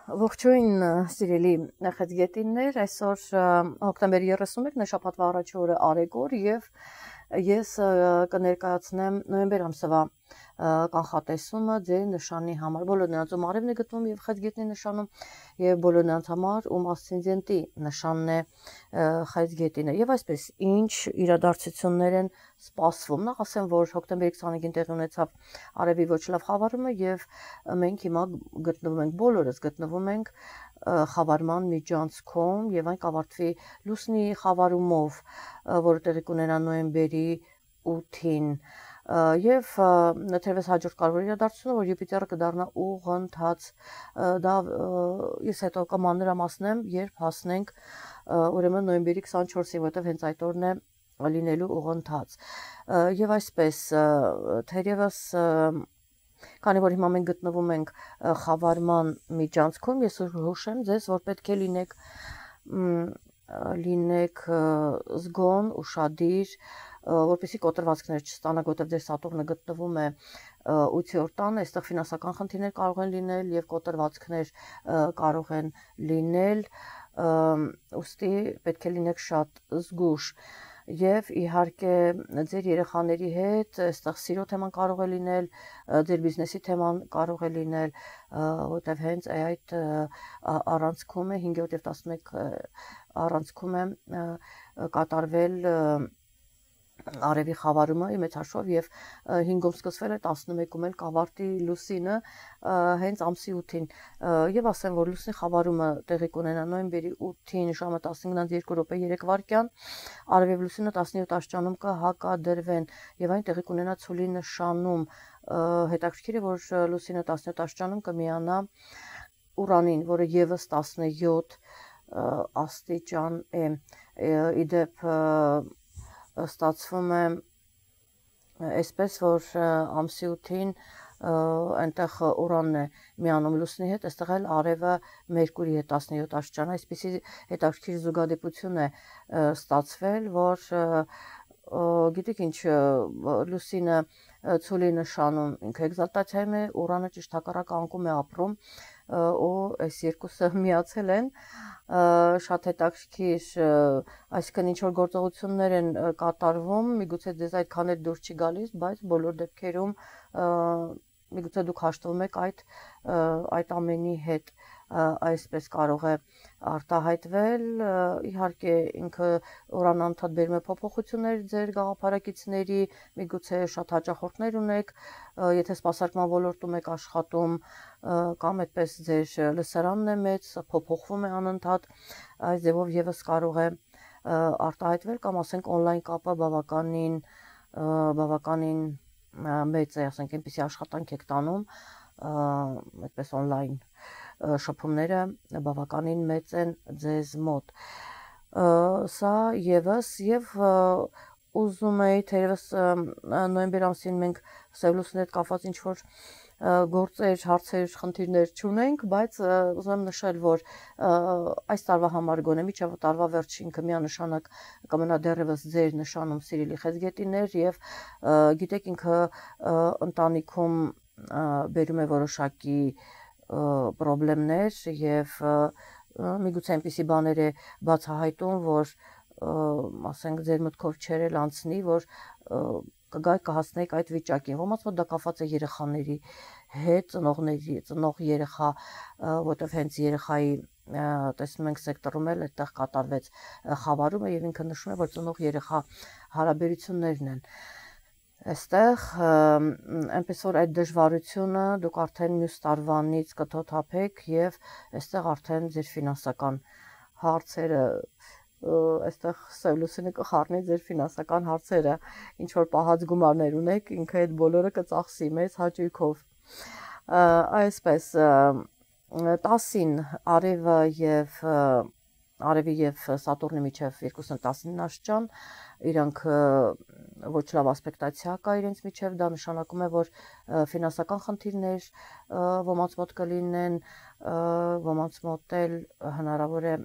Ողջույն սիրելի նախագետիններ, այսօր հոկտեմբերի 31-ն է շաբաթվա առաջի օրը Արեգոր եւ ես կներկայացնեմ նոյեմբեր ամսվա կանխատեսումը ձեր նշանի համար։ Բոլոր նրանց ում արևն է գտնվում եւ խեցգետնի նշանում եւ բոլոր նրանց համար ում ասցենդենտի նշանն է խեցգետինը։ Եվ այսպես ինչ իրադարձություններ են սպասվում։ Նախ ասեմ, որ հոկտեմբերի 25-ին տեղի ունեցավ արևի ոչ լավ խավարումը եւ մենք հիմա գտնվում ենք բոլորս գտնվում ենք խավարման միջանցքում եւ այն կավարտվի լուսնի խավարումով, որը տեղի կունենա նոյեմբերի 8-ին եւ թերևս հաջորդ կարևոր իրադարձությունը, որ Յուպիտերը կդառնա ուղղընթաց, դա ես հետո կմանրամասնեմ, երբ հասնենք ուրեմն նոյեմբերի 24-ին, որտեղ հենց այդ օրն է լինելու ուղղընթաց։ Եվ այսպես թերևս քանի որ հիմա մենք գտնվում ենք խավարման միջանցքում, ես հուշեմ ձեզ, որ պետք է լինեք զգոն, ուշադիր, որպեսզի կոտրվածքներ չստանաք, որտեղ ձեր Սատուրնը գտնվում է 8-րդ տանը, այստեղ ֆինանսական խնդիրներ կարող են լինել եւ կոտրվածքներ կարող են լինել, ուստի պետք է լինեք շատ զգուշ։ Եվ իհարկե ձեր երեխաների հետ այստեղ սիրո թեման կարող է լինել, ձեր բիզնեսի թեման կարող է լինել, որտեղ հենց այդ առանցքում է 5-րդ եւ 11 առանցքում է կատարվել արևի խավարումը մեծ հաշվով եւ 5-ում սկսվել է 11-ում էլ կավարտի լուսինը հենց ամսի 8-ին եւ ասեմ, որ լուսնի խավարումը տեղի կունենա նոյեմբերի 8-ին ժամը 15:02 արևի լուսինը 17 աստիճանում կհակադրվեն եւ այն տեղի կունենա ցուլի նշանում։ Հետաքրքիր է, որ լուսինը 17 աստիճանում կմիանա Ուրանին, որը եւս 17 աստիճան է։ Իդեպ ստացվում է այսպես, որ ամսի 8-ին այնտեղ Ուրանն է միանում լուսնի հետ, այստեղ էլ արևը Մերկուրի հետ 17 աստիճան, այսպեսի հետաքրքիր զուգադիպություն է ստացվել, որ գիտեք ինչ, լուսինը ցուլի նշանում ինքը էկզալտացիայում է, Ուրանը ճիշտ հակառակ անկում է ապրում ու այս երկուսը միացել են, շատ հետաքրքիր, այսինքն ինչ որ գործողություններ են կատարվում, միգուցե ձեզ այդքան էլ դուր չի գալիս, բայց բոլոր դեպքերում միգուցե դուք հաշտվում եք այդ ամենի հետ, այսպես կարող է արտահայտվել, իհարկե ինքը Ուրանը անդադ բերում է փոփոխություններ ձեր գաղափարակիցների, միգուցե շատ հաճախորդներ ունեք, եթե սպասարկման ոլորտում եք աշխատում կամ այդպես ձեր լսարանն է մեծ, փոփոխվում է անընդհատ, այս ձևով եւս կարող է արտահայտվել կամ ասենք on-line կապը բավականին մեծ է, ասենք այնպեսի աշխատանք եք տանում, այդպես on-line շփումները բավականին մեծ են ձեզ մոտ։ Սա եւս եւ ուզում էի թերևս նոյեմբեր ամսին մենք Սևլուսին հետ կապված ինչ որ գործեր, հարցեր, խնդիրներ չունենք, բայց ուզում եմ նշել, որ այս տարվա համար գոնե միջև տարվա վերջին կմիանշանակ կմնա դեռևս ձեր նշանում սիրելի խեցգետիներ եւ գիտեք ինքը ընտանիքում բերում է որոշակի պրոբլեմներ եւ միգուցե այնպիսի բաներ է բացահայտում, որ ասենք ձեր մտքով չէր էլ անցնի, որ կգայք կհասնեիք այդ վիճակին։ Ոմանց մոտ դա կապված է երեխաների հետ, ծնող երեխա, որտեղ հենց երեխայի տեսնում ենք սեկտորում էլ այդտեղ կատարվեց խավարումը եւ ինքը նշում է, որ ծնող երեխա հարաբերություններն են այստեղ, այնպես որ այդ դժվարությունը դուք արդեն մյուս տարվանից կթոթափեք եւ այստեղ արդեն ձեր ֆինանսական հարցերը այստեղ Սևլուսինը կխառնի ձեր ֆինանսական հարցերը, ինչ որ պահած գումարներ ունեք, ինքը այդ բոլորը կծախսի մեծ հաճույքով։ Այսպես 10-ին Արևի եւ Սատուրնի միջև 2-19 աստիճան, իրանք ոչ լավ ասպեկտացիա կա իրենց միջև, դա նշանակում է, որ ֆինանսական խնդիրներ ոմանց մոտ կլինեն, ոմանց մոտ էլ հնարավոր է,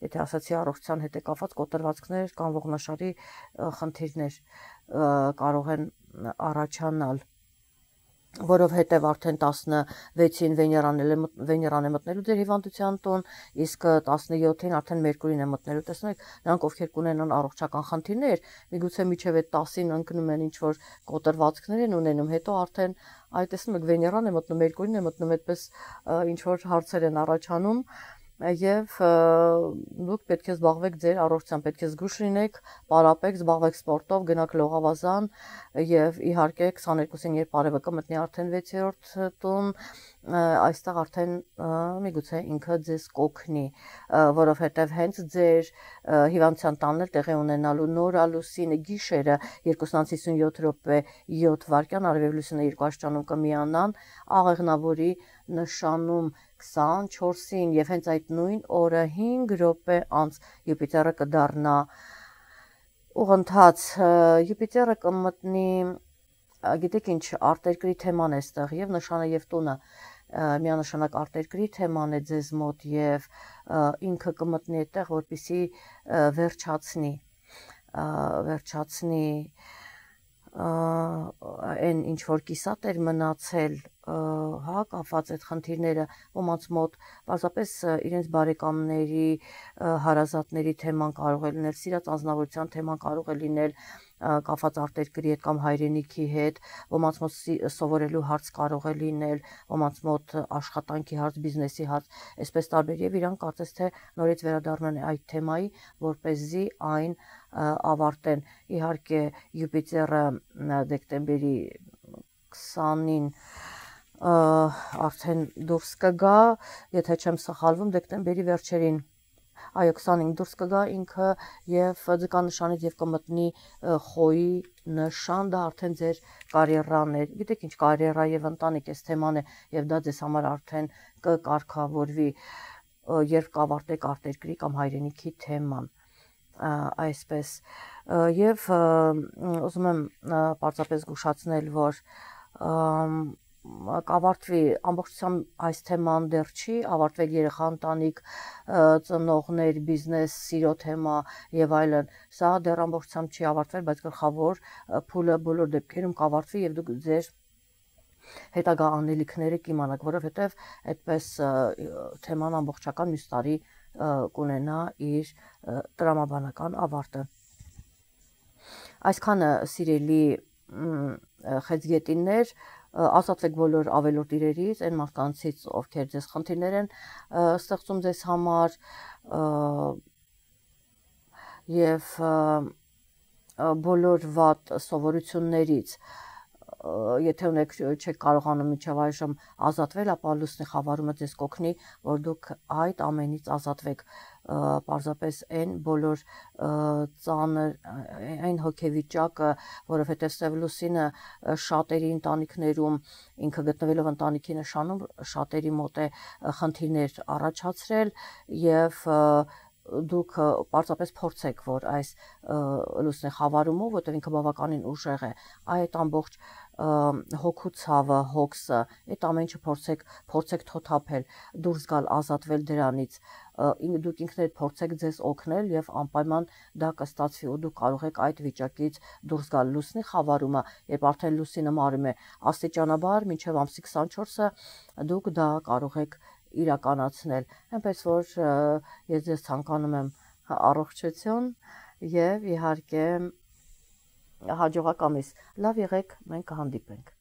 եթե ասացի առողջության հետ է կապված կոտրվածքներ կամ ողնաշարի խնդիրներ կարող են առաջանալ։ որովհետև արդեն 16-ին Վեներան է մտնելու ձեր հիվանդության տուն, իսկ 17-ին արդեն Մերկուրին է մտնելու։ Տեսնում եք, նրանք ովքեր կունենան առողջական խնդիրներ, միգուցե մինչև այդ 10-ին ընկնում են ինչ-որ կոտրվածքներ են ունենում, հետո արդեն այ տեսնում եք Վեներան է մտնում, Մերկուրին է մտնում, այդպես ինչ-որ հարցեր են առաջանում եւ դուք պետք է զբաղվեք ձեր առողջությամբ, պետք է զգույշ լինեք, պարապեք, զբաղվեք սպորտով, գնաք լողավազան եւ իհարկե 22-ին երբ արևը կմտնի արդեն 6-րդ տուն, այստեղ արդեն միգուցե ինքը ձեզ կօգնի, որովհետեւ հենց ձեր հիվանդության տանն էլ տեղի ունենալու նորալուսինը գիշերը 2:57 րոպե 7 վայրկյան արևի լուսինը 2 աստիճանում կմիանան, աղեղնավորի նշանում 24-ին եւ հենց այդ նույն օրը 5 րոպե անց Յուպիտերը կդառնա ուղընթաց, Յուպիտերը կմտնի, գիտեք ինչ, արտերկրի թեման է այստեղ եւ նշանը եւ տունը միանշանակ արտերկրի թեման է ձեզ մոտ եւ ինքը կմտնի այդտեղ, որպեսի վերջացնի այն ինչ որ կիսատ էր մնացել, հա, կապված այդ խնդիրները ոմանց մոտ պարզապես իրենց բարեկամների, հարազատների թեման կարող է լինել, սիրած անձնավորության թեման կարող է լինել կապված արտերկրի հետ կամ հայրենիքի հետ, ոմանց մոտ սովորելու հարց կարող է լինել, ոմանց մոտ աշխատանքի հարց, բիզնեսի հարց, այսպես տարբեր եւ իրանք կարծես թե նորից վերադառնան այդ թեմայի, որպեսզի այն ավարտեն։ Իհարկե Յուպիտերը դեկտեմբերի 20-ին արդեն դուրս կգա, եթե չեմ սխալվում, դեկտեմբերի վերջերին, այո 25 դուրս կգա ինքը եւ ձգանշանից եւ կմտնի խոյի նշան, դա արդեն ձեր կարիերան է, գիտեք ինչ, կարիերա եւ ընտանիք էս թեման է եւ դա ձեզ համար արդեն կկարգավորվի, երբ կավարտեք արտերկրի կամ հայրենիքի թեման, այսպես եւ ուզում եմ պարզապես զգուշացնել, որ կավարտվի ամբողջությամբ այս թեման դեռ չի ավարտվել, երեխա ընտանիք, ծնողներ, բիզնես, սիրո թեմա եւ այլն, սա դեռ ամբողջությամբ չի ավարտվել, բայց գլխավոր փուլը բոլոր դեպքերում կավարտվի եւ դուք ձեր հետագա անելիքները կիմանաք, որովհետեւ այդպես թեման ամբողջական մյուս տարի կունենա իր տրամաբանական ավարտը։ Այսքանը սիրելի խեցգետիններ, ազատվեք բոլոր ավելորդ իրերից, այն մարդկանցից, ովքեր ձեզ խնդիրներ են ստեղծում ձեզ համար եւ բոլոր վատ սովորություններից, եթե ունեք չեք կարողանում մինչև այժմ ազատվել, ապա լուսնի խավարումը ձեզ կօգնի, որ դուք այդ ամենից ազատվեք, պարզապես այն բոլոր ծանր, այն հոգեվիճակը, որովհետև սև լուսինը շատերի ընտանիքներում, ինքը գտնվելով ընտանիքի նշանում, շատերի մոտ է խնդիրներ առաջացրել եւ դուք պարզապես փորձեք, որ այս լուսնի խավարումով, որտեղ ինքը բավականին ուժեղ է, այդ ամբողջ հոգու ցավը, հոգսը, այդ ամեն ինչը փորձեք թոթափել, դուրս գալ, ազատվել դրանից, դուք ինքներդ փորձեք ձեզ օգնել եւ անպայման դա կստացվի ու դուք կարող եք այդ վիճակից դուրս գալ։ Լուսնի խավարումը, երբ արդեն լուսինը մարում է աստիճանաբար մինչեւ ամսի 24-ը, դուք դա կարող եք իրականացնել, այնպես որ ես ձեզ ցանկանում եմ առողջություն եւ իհարկե հաջողակ ամիս, լավ եղեք, մենք կհանդիպենք։